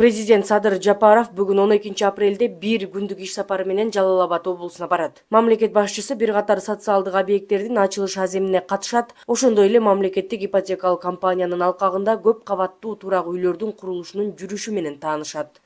Президент Садыр Жапаров бүгүн 12 апрелде бир күндүк иш сапары менен Жалал Абад облусуна барат. Мамлекет башчысы бир катар социалдык объекттердин ачылыш аземине катышат. Ошондой эле мамлекеттик ипотекалык компаниянын алкагында көп кабаттуу турак үйлөрдүн курулушунун жүрүшү менен таанышат.